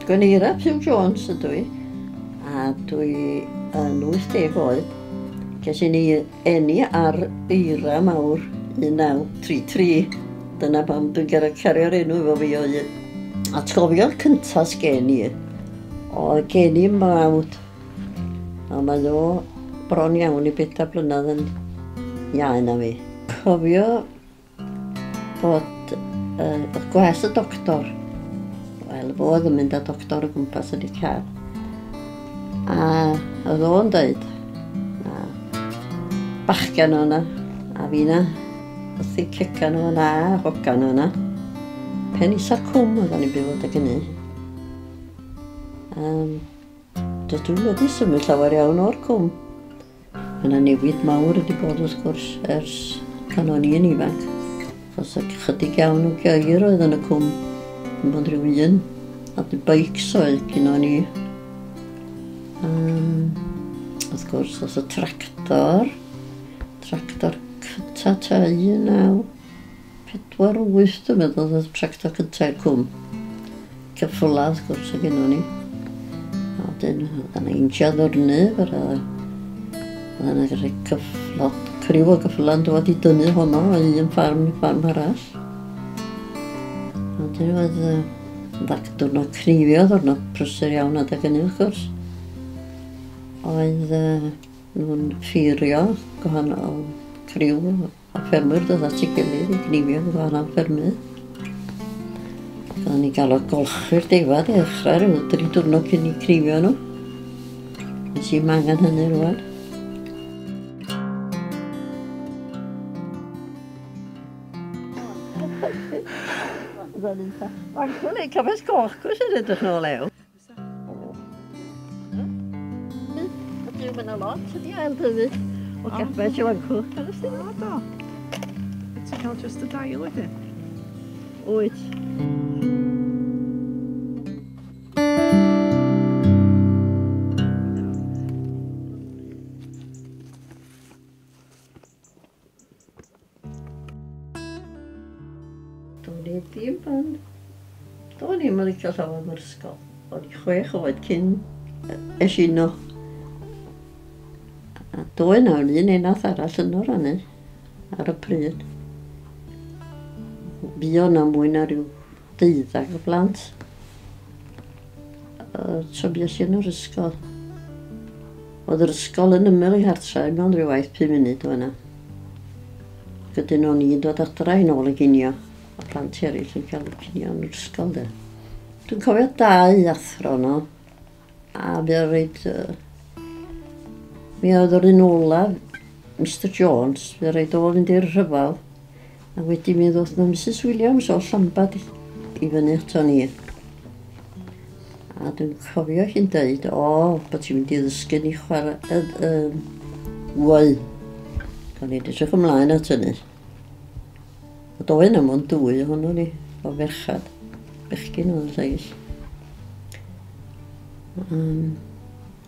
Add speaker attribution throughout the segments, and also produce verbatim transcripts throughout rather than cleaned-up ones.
Speaker 1: Gweneira Pugh Jones ydw i, a dwi yn wyth deg oed. Ces i ni eni ar eira mawr un naw tri tri. Dyna pam dwi'n gorfod cario'r enw efo fi o hyd. Atgofion cyntaf sgen i, oedd gen i mrawd, a mae o bron iawn i bedair blynedd yn iau na fi. Cofio bod uh, gwas y doctor, wel, fo oedd yn mynd â doctor o gwmpas yn ei car. A oedd o'n dweud, a bachgen o'na, a fi na, wrth i cegan o'na, a hogan o'na. Pen isa'r cwm oedden ni'n byw adeg hynny. Um, dydw i wedi symud llawer iawn o'r cwm. Mae yna newid mawr wedi bod wrth gwrs ers pan o'n i'n ifanc. Achos ychydig iawn o geir oedd yn y cwm. Dim ond rhyw un. A dy beics oedd gynnon ni. Um, wrth gwrs, oedd y tractor. Tractor cynta ta un naw pedwar wyth, dwi'n meddwl, oedd y tractor cynta i'r cwm. Ceffyla, wrth gwrs, oedd gynnon ni. A wedyn, oedd yna injan ddyrnu, yr oedd yna cyfflod, criw o gyffyla'n dod i dynnu honno o un ffarm i ffarm arall. A wedyn oedd uh, diwrnod cneifio, diwrnod prysur iawn adeg hynny, wrth gwrs. Oedd uh, nhw'n ffeirio gwahanol criw o ffermwyr dod at ei gilydd i gneifio gwahanol ffermydd. Oedden ni'n gael o golchi'r defaid i ddechrau rhyw dri diwrnod cyn i cneifio nhw. Nes i'm angen hynny rŵan. Mae'n ei cafes goch gwrs yn edrych nôl ew. Ydyw, mae yna lot ydi ail dyfu o gafes i fancw.
Speaker 2: O, do. Ti'n cael just y dail wedyn?
Speaker 1: Wyt. Do'n i ddim yn... Do'n i'm yn licio llawer o'r ysgol. O'n i chwech oed cyn es i yno. A doedd 'na un enath arall yno rannu ar y pryd. Fuo 'na mwy na rhyw deuddag o blant. So bues i yn yr ysgol. Oedd yr ysgol yn ymyl i nghartra, mewn rhyw waith pum munud o yna. Wedyn o'n i'n dod adra i nôl y ginio. A plant eraill yn cael cinio yn yr ysgol de. Dwi'n cofio dau athro yno, a mi oedd reit, uh, mi oedd yr un olaf, Mister Jones, mi oedd reit o fynd i'r rhyfel, a wedyn mi ddoth na Missus Williams o Llambad i fyny ato ni. A dwi'n cofio hi'n deud, o, bod ti'n mynd i ddysgu ni chwarae, uh, uh, wau. O'n i'n edrych ymlaen at hynny. A doedd yna mond dwy ohono ni, o ferchad. Bechgyn oedd y lleill. Um,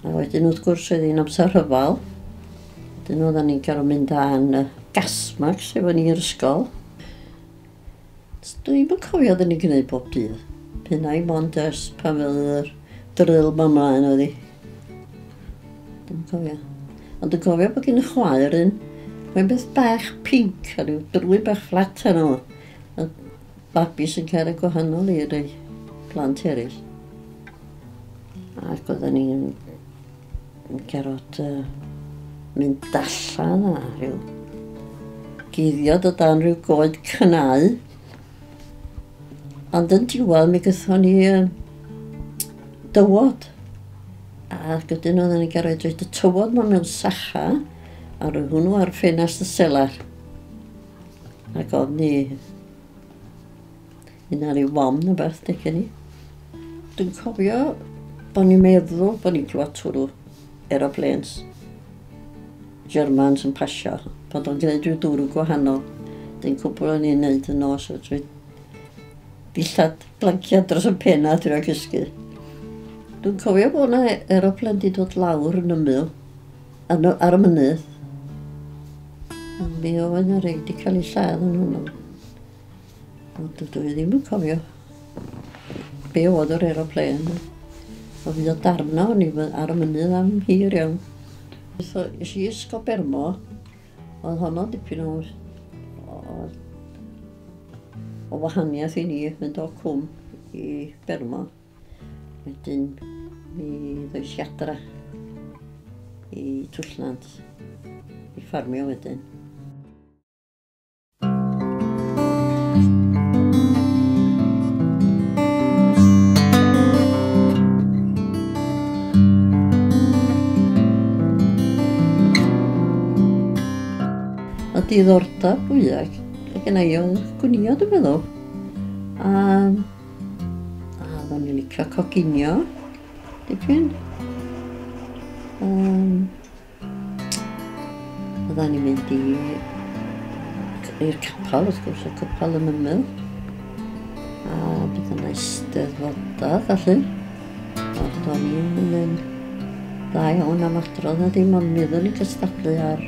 Speaker 1: a wedyn wrth gwrs oedd hi'n amser rhyfel. Wedyn oedden ni'n cael mynd â'n gas masks efo ni i'r ysgol. Dwi'm yn cofio oedden ni'n gwneud bob dydd. P'un ai mond ers pan fydd yr drill ma mlaen oedd hi. Dwi'n cofio. Ond dwi'n cofio bod gen y chwaer un, mae'n beth bach pinc a rhyw drwy bach fflat arno fo. A babis yn cael ei gwahanol i'r plant eraill. Ac oedden ni'n gorfod uh, mynd allan a rhyw guddiad o dan rhyw goed cynnau. Ond yn diwedd mi gaethon ni uh, dywod. Ac wedyn oedden ni'n gorfod rhoid y tywod ma mewn sacha a rhoi hwnnw ar ffenast y selar. Ac oedd ni un ar ei wom neu beth, decen ni. Dwi'n cofio bod ni'n meddwl bod ni'n clywed twrw aeroplanes. Germans yn pasio, bod o'n gwneud rhyw dwrw gwahanol. Dyn cwbl o'n i'n neud yn nos, drwy dillad blanciad dros y pen a drio cysgu. Dwi'n cofio bod yna aeroplane di dod lawr yn ymyl, ar y mynydd. Mi oedd yna rei di cael ei lladd yn hwnnw. Ond dwi ddim yn cofio be oedd yr aeroplane. O fi o darna o'n i ar y mynydd am hir iawn. So, es i Ysgol Bermo, oedd honno dipyn o, o, o wahaniaeth i ni, mynd o cwm i Bermo. Wedyn mi ddoes i adra i Twllnant, i ffarmio wedyn. Y diddordeb fwyaf gen i oedd gwnïo, dwi'n meddwl. A, a oedden ni'n licio coginio, dipyn. Um, oedden ni'n mynd i, i'r capel, wrth gwrs, y capel yn ymyl. A bydd yna eisteddfodau, felly. Ond o'n i'n yn dda iawn am adrodd na dim, ond mi oedden ni'n cystadlu ar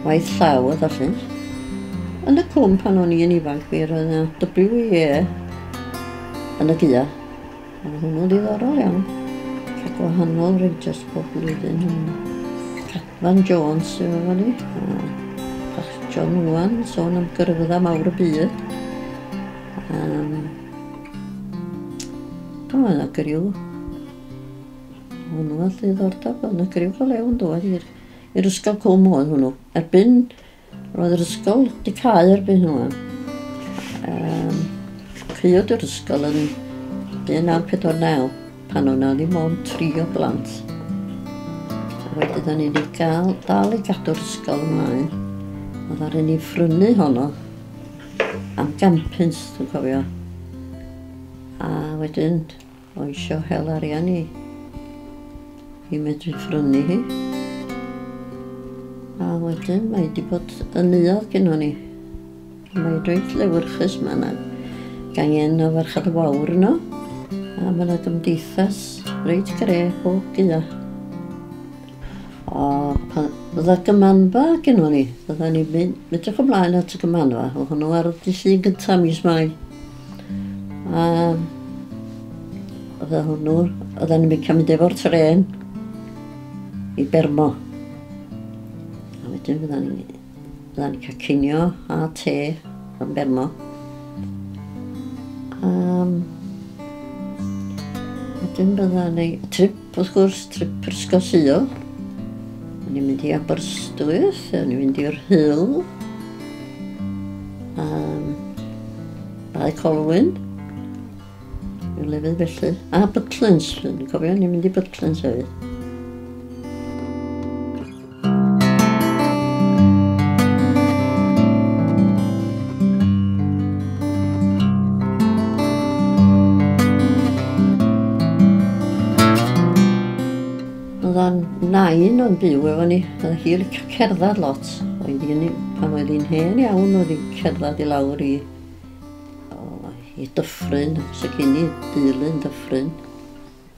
Speaker 1: waith llaw a felly. Yn y cwm pan o'n i'n ifanc, mi roedd yna W E yn y gaea. Oedd hwnnw'n ddiddorol iawn. Cael gwahanol rangers pob blwyddyn. Cadfan Jones sydd efo ni. A John Owen, sôn am gyrfydda mawr y byd. Um, Oedd yna griw. Hwnnw oedd ddiddordeb. Oedd yna griw go lew yn dod i'r i'r ysgol cwm oedd hwnnw. Erbyn, roedd yr ysgol wedi cau erbyn hwnnw. Um, Caeodd yr ysgol yn un naw pedwar naw, pan oedd 'na ddim ond tri o blant. A wedyn o'n i wedi gael, dal i gadw'r ysgol ymlaen. Oedd ar ni phrynu honno am gampins, dwi'n cofio. A wedyn, o'n isio hel arian i, i medru phrynu hi. A wedyn mae wedi bod yn neuadd gynnon ni. Mae reit lewyrchus, mae yna gangen o Ferched y Wawr yno. A mae yna gymdeithas reit gre bob gaea. O, pan fydda gymanfa gynnon ni, fydda ni'n mynd edrych ymlaen at y gymanfa. Oedd hwnnw ar y dydd Llun gyntaf mis Mai. A fydda hwnnw, oedden ni'n mynd cael mynd efo'r tren i Bermo. A wedyn fydda ni'n fydda ni'n cael cinio a te yn Bermo. Um, wedyn bydda ni trip, wrth gwrs, trip yr Ysgol Sul. O'n i'n mynd i Aberystwyth, o'n i'n mynd i'r Rhyl, um, Bae Colwyn, rhyw lefydd felly. A Butlins, dwi'n cofio, o'n i'n mynd i Butlins hefyd. Oedd nain o'n byw efo ni, oedd hi'n licio cerdded lot. Oedd hi'n, pan oedd hi'n hen iawn, oedd hi'n cerdded i lawr i, o, i dyffryn, so gyn i deulu'n dyffryn.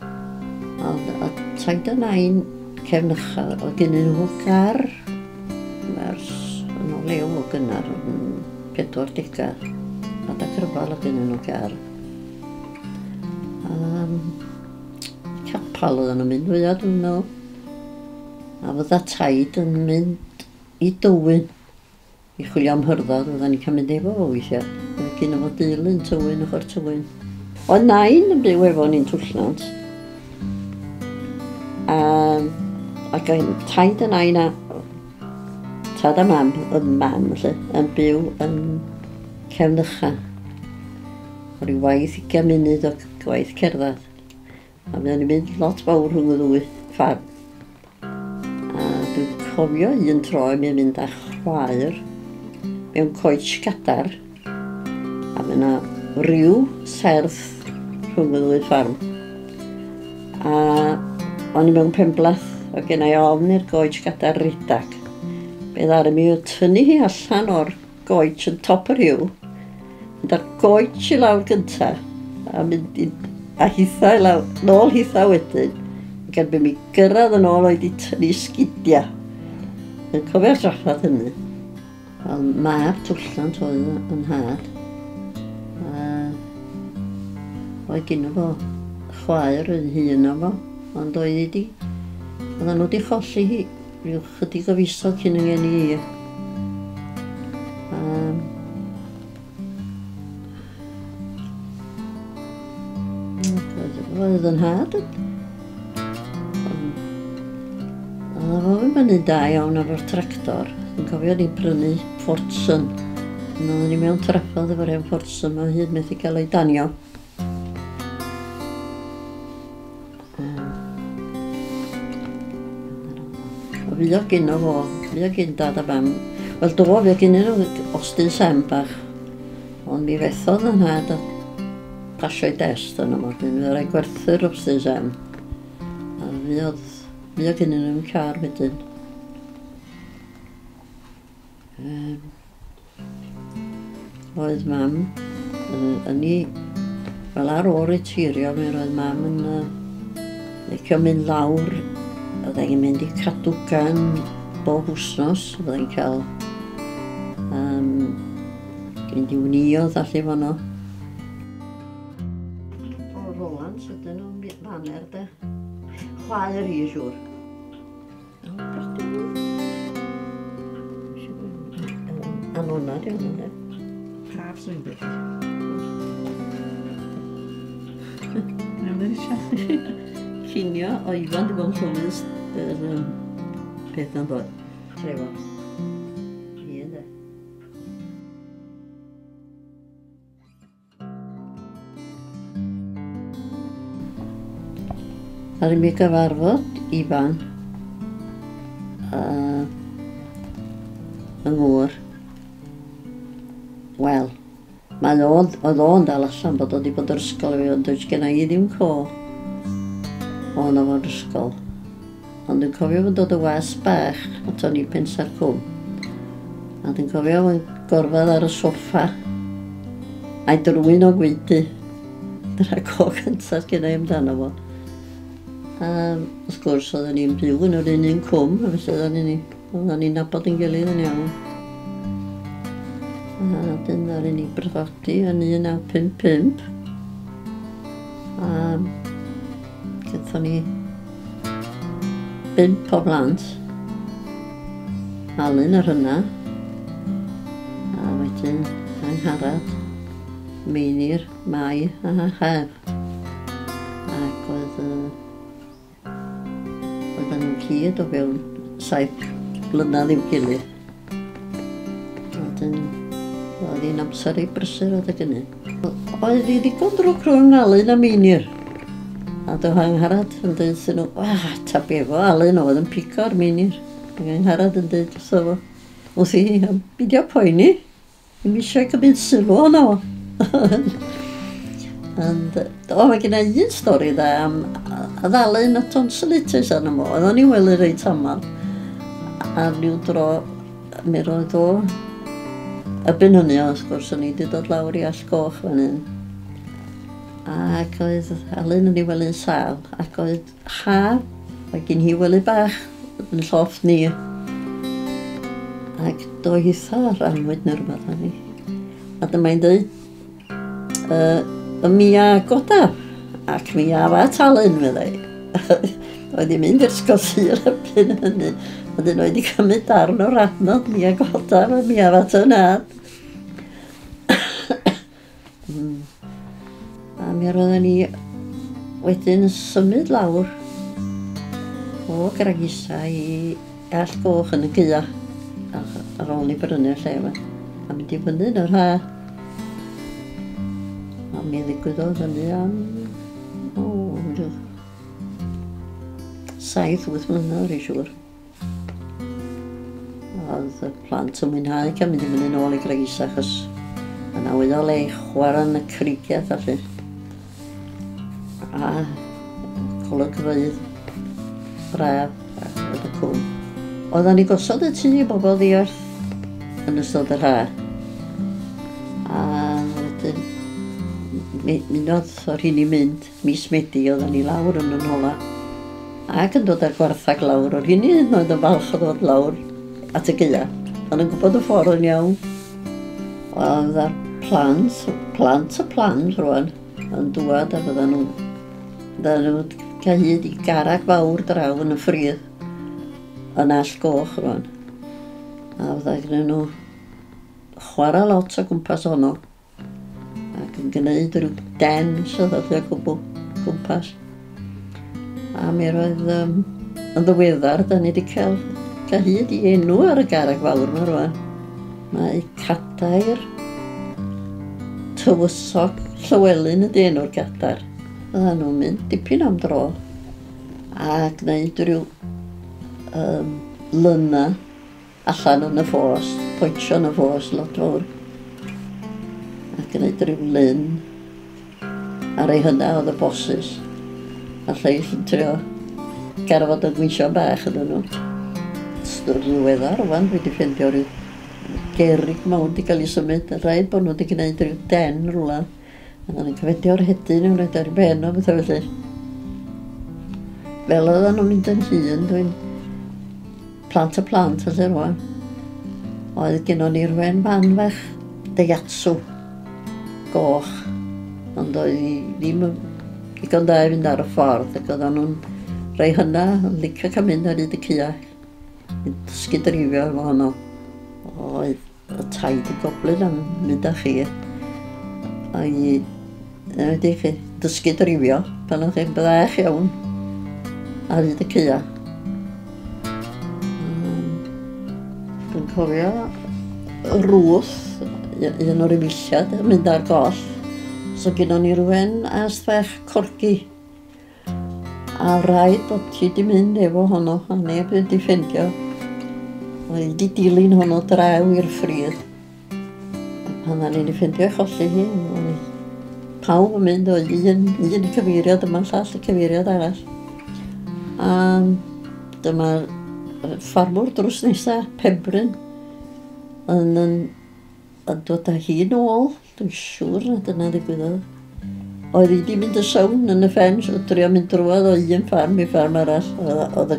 Speaker 1: Ond a taid a nain cefnycha, oedd gennyn nhw gar, ers yn o lew o gynnar, yn pedwar degau, a da cryfal oedd gennyn nhw gar. Um, capel oedden nhw'n mynd fwyaf, dwi'n meddwl. A fydda taid yn mynd i Dywyn i chwilio am hyrddod, fydda ni'n cael mynd efo fo weithiau. Oedd gynno fo deulu'n Tywyn, ochr Tywyn. Oedd nain yn byw efo ni'n Twllnant. A, ac oedd taid a nain a tad a mam, oedd mam felly, yn byw yn Cefnycha. O ryw waith ugain munud o gwaith cerdded. A fydda ni'n mynd lot fawr rhwng y ddwy ffarm. A dwi'n cofio un tro i mi mynd â chwaer mewn coets gadar. A mae yna ryw serth rhwng y ddwy ffarm. A o'n i mewn penblath, o gen i ofn i'r goets gadar redag. Be ddaru mi oedd tynnu hi allan o'r goets yn top yr hiw, mynd â'r goets i lawr gynta, a mynd i, a hitha i lawr, nôl hitha wedyn. Ac erbyn mi gyrraedd yn ôl oedd i tynnu sgidia. Yn cofio'r trafferth hynny. Wel, mab Twllnant oedd yn nhad. A Oedd gynno fo chwaer yn hŷn na fo, ond oedd hi 'di, oedden nhw wedi cholli hi rhyw chydig o fisoedd cyn yng ngeni i. Um, oedd yn nhad yn... Oedd o'n fyny'n da iawn efo'r tractor. Dwi'n cofio ni prynu Fordson. Oedden ni mewn trafferth efo'r hen Fordson, mae hyd methu cael ei danio. Fuo gynno fo, fuo gyn dad a fam. Wel do, fuo gynnyn nhw Austin Sam bach. Ond mi fethodd yn nhad a pasio'i dest yno fo. Dyn mi rhaid gwerthu'r Austin Sam. A fuodd, fuo gynnyn nhw'n car wedyn. Um, oedd mam yn, yn ei, wel ar ôl reteirio, mi roedd mam yn uh, licio mynd lawr. Oedd hi'n mynd i Cadwgan bob wsnos, oedd hi'n cael um, mynd i wnïodd allu fanno. O, Roland, ydyn nhw'n faner de. Chwaer i, siŵr. Anona, di hwnna, de.
Speaker 2: Praf swn i'n dweud. Nawn ni siarad i chi.
Speaker 1: Cinio o Ifan di bod yn llwyd yr um, peth na'n dod. Trefo. Ie, de. Ar i mi gyfarfod Ifan uh, yng ngŵr. Wel, mae o'n, oedd o'n dal allan bod o wedi bod yr ysgol efo, ond does genna i ddim co. O'n o'r ysgol. Ond dwi'n cofio fod dod o was bach aton ni Pensa'r Cwm. A dwi'n cofio fo'n gorfod ar y soffa a'i drwyn o gwaedu. Dyna co cyntaf genna i amdano fo. A wrth gwrs oedden ni'n byw yn yr un un cwm, a felly oedden ni'n oedden ni'n nabod yn gilydd yn iawn. A dyn ddaru ni briodi yn un naw pump pump. A gaethon ni bump o blant, Alun yr hynna, a wedyn Angharad, Meinir, Mai a Hef. Ac oedd, uh, oedden nhw'n cyd o fewn saith blynedd i'w gilydd. Wedyn, oedd hi'n amser i brysur adeg hynny. Oedd hi ddigon drwg rhwng Alun a Meinir. A do Angharad yn dweud wrthyn nhw, wah, ta be fo, Alun oedd yn pigo'r Meinir. Ac Angharad yn dweud wrtho fo, wrth i, beidio poeni, ddim eisiau cymryd sylw ohono fo. Ond, o, mae gen i un stori dda am oedd Alun a tonsillitis arno fo, oedd o'n i wely reit amal. A ryw dro, mi roedd o, erbyn hynny, wrth gwrs, o'n i wedi dod lawr i Allt Goch fan hyn. Ac oedd Alun yn ei wely'n sâl, ac oedd ha, oedd gen hi wely bach yn llofft ni. Ac do hitha ar annwyd neu rhywbeth arni. A dyma'n dweud, uh, y mi a godaf, ac mi a fa Alun, meddai. Oedd hi'n mynd i'r ysgol Sul erbyn hynny. A dyn oedd hi cymryd darn o'r adnod, mi a godaf, a mi a fa ty nhad. A mi roedden ni wedyn yn symud lawr o Graig Isa i Allt Goch yn y gaea ar ôl ni brynu'r lle yma. A mynd i fyny yn yr ha. A mi ddigwyddodd hynny am, o, saith, wyth mlynedd, rwy'n siŵr. Oedd y plant yn mwynhau cael mynd i fyny nôl i Graig Isa, achos yna oedd o le i chwarae yn y creigiau felly. A golygfeydd braf oedd y cwm. Oedden ni gosod y tŷ i bobl ddiarth yn ystod yr ha. A wedyn, munodd o'r hyn i mynd, mis Medi, oedden ni lawr yn yn hola. Ac yn dod â'r gwarthag lawr, o'r hyn i hyd yn oed yn falch o ddod lawr at y gaea. O'n yn gwybod y ffordd yn iawn. Oedd ar plant, plant y plant rwan, yn dŵad a fyddan nhw'n fyddan nhw'n cael hyd i garreg fawr draw yn y ffridd yn Allt Goch rwan. A fydda gyda nhw chwarae lot o gwmpas honno ac yn gwneud rhyw den sydd oedd o gwbl gwmpas. A mi roedd um, yn ddiweddar, da ni wedi cael, cael hyd i enw ar y garreg fawr yma rwan. Mae Cadair Tywysog Llywelyn ydy enw'r gadair. Fyddan nhw'n mynd dipyn am dro a gwneud rhyw um, lyna allan yn y ffos, poetsio yn y ffos lot fawr. A gwneud rhyw lyn ar ei hynna oedd y bosses. A lleill yn trio garfod y gweision bach ydyn nhw. Yn ddiweddar rwan dwi wedi ffeindio rhyw gerrig mawr wedi cael ei symud. A rhaid bod nhw wedi gwneud rhyw den rhywle. A oedden nhw'n cyfeidio'r hedyn yn rhaid ar ei ben o bethau felly. Fel oedden nhw'n mynd yn hŷn, dwi'n plant y plant felly rwan. Oedd gennon ni'r wen fan fach Daihatsu goch, ond oedd hi ddim yn digon da i fynd ar y ffordd ac oedden nhw'n rhai hynna yn licio cael mynd ar hyd y caea i dysgu dreifio efo honno. Oedd y taid yn goblyn am mynd â chi a i wedi chi dysgu dreifio pan o'ch chi'n bach iawn ar hyd y caea. Dwi'n cofio Ruth, un o'r efeilliad, yn mynd ar goll. So gynnon ni rywun ast fach corgi. A rhaid bod hi wedi mynd efo honno, a neb wedi ffeindio. Oedd hi wedi dilyn honno draw i'r ffridd. A pan o'n i'n ffeindio ei cholli hi, o'n i pawb yn mynd o un, un cyfeiriad yma, llall y cyfeiriad arall. A dyma'r ffarmwr drws nesa, Penbryn, yn, yn, yn dod â hi nôl. Dwi'n siŵr na dyna ddigwyddodd. Oedd hi wedi mynd y sawn yn y ffens, o drio mynd drwodd o un ffarm i ffarm arall. Oedd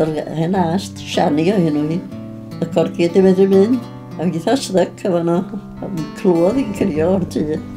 Speaker 1: yr hen ast, Siani o hyn hi, y corgi wedi medru mynd. A fi eitha styc efo nhw. A clywed hi'n crio o'r tŷ.